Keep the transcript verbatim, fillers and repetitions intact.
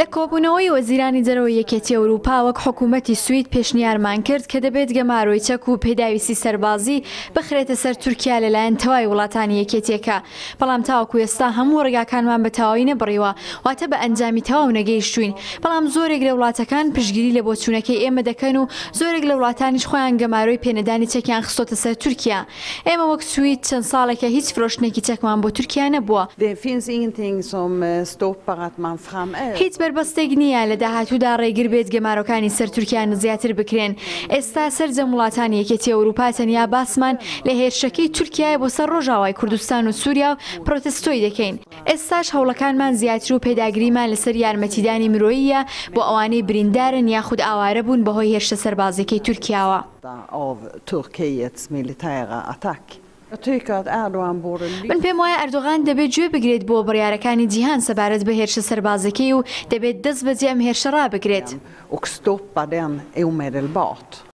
لە کۆبوونەوەی وەزیرانی دەرەوەی یەکێتی ئەوروپا وەک حکوومەتی سوید پێشنیارمان کرد کە دەبێت گەمارۆی چەک و پێداویستی سەربازی بخرێتە سەر تورکیا لەلایەن تەواوی وڵاتانی یەکێتیەکە، بەڵام تاوەکو ئێستا هەموو ڕێگاکانمان بە تەواوی نەبڕیوە، واتە بە ئەنجامی تەواو نەگەیشتوین، بەڵام زۆرێک لە وڵاتەکان پشتگیری لە بۆچوونەکەی ئێمە دەکەن و زۆرێک لە وڵاتانیش خۆیان گەمارۆی پێنەدانی چەکیان خستۆتە سەر تورکیا. ئێمە وەک سوید چەند ساڵێکە هیچ فرۆشتنێکی چەکمان بۆ تورکیا نەبووە. هیچ بەربەستێک نییە لە داهاتوودا ڕێگر بێت گەمارۆکانی سەر تورکیا زیاتر بکرێن. ئێستا سەرجەم وڵاتانی یەکێتی ئەوروپا تەنیا باسمان لە هێرشەکەی تورکیایە بۆ سەر ڕۆژاوای کوردستان و سووریا و پرۆتستۆی دەکەین. ئێستاش هەوڵەکانمان زیاتر و پێداگریمان لەسەر یارمەتیدانی مرۆییە بۆ ئەوانەی بریندارن یاخود ئاوارە بوون بەهۆی هێرشە سەربازیەکەی تورکیاوە. من پێم وایە ئەردۆغان دەبێت گوێ بگرێت بۆ بڕیارەکانی جیهان سەبارەت بە هێرشە سەربازەکەی و دەبێت دەست بەجێ ئەم هێرشە ڕابگرێت.